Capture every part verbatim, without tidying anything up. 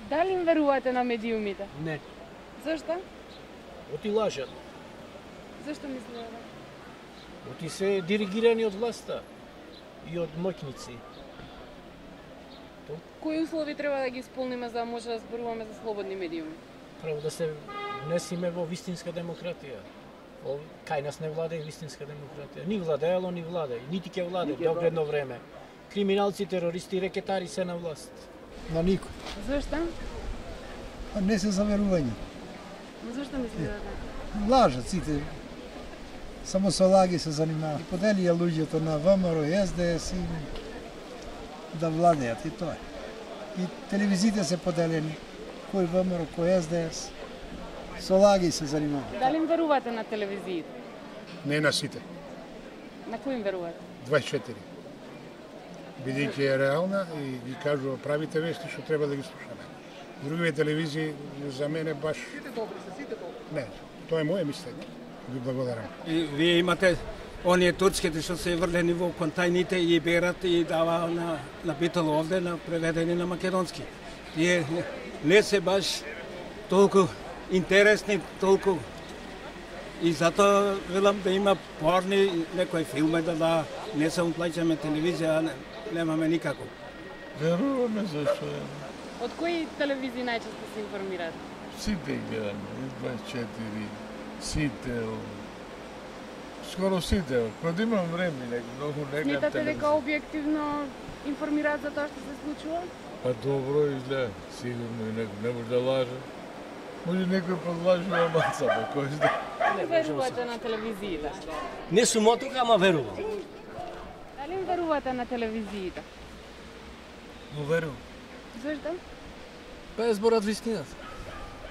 Дали им верувате на медиумите? Не. Зашто? Оти лажат. Зашто мислите? Оти се диригирани од власта и од моќници. Кои услови треба да ги исполниме за да може да зборуваме за слободни медиуми? Право да се внесиме во вистинска демократија. О, кај нас не владее вистинска демократија. Ни владеело, ни владее. Нити ќе владее до одредно време. Криминалци, терористи, рекетари се на власт. На никој. Зашто? А не се за верување. Зашто мислите така? Лажат сите. Само со лаги се занимаваат. Поделија луѓето на ВМРО и С Д С и да владеат и тоа. И телевизиите се поделени. Кој ВМРО, кој С Д С. Со лаги се занимаваат. Дали им верувате на телевизиите? Не на сите. На кој им верувате? дваесет и четири. Бидејќи е реална и ги кажува правите вести што треба да ги слушаме. Другите телевизии за мене баш... Сите добри се, сите добри. Не, тоа е моје мислење. Ви благодарам. И вие имате оние турските што се врлени во контајните и берат и дава на, на битало овде на преведени на македонски. Тие не се баш толку интересни, толку и затоа велам да има порни некои филми да да не само плаќаме телевизија, а немаме никако. Веруваме зашто е. Од кои телевизии најчесто се информирате? Сите гледаме, дваесет и четири, сите, скоро сите, кога имам време, не, многу не гледам Сметате дека телевизија. објективно информираат за тоа што се случува? Па добро изгледа, сигурно и некој не може да лаже. Може некој подлажува маца, па кој знае. Дали верувате на телевизиите? Не сум од тука, ама верувам. Дали им верувате на телевизиите? Верувам. Зашто? Па е зборат вистината.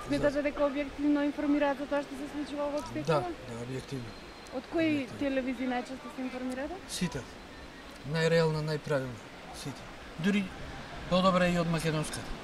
Сметате дека објективно информираат за тоа што се случува во општеството? Да, да, објективно. Од кои телевизии најчесто се информирате? Сите. Најреална, најправилна. Сите. Дури подобре и од македонската.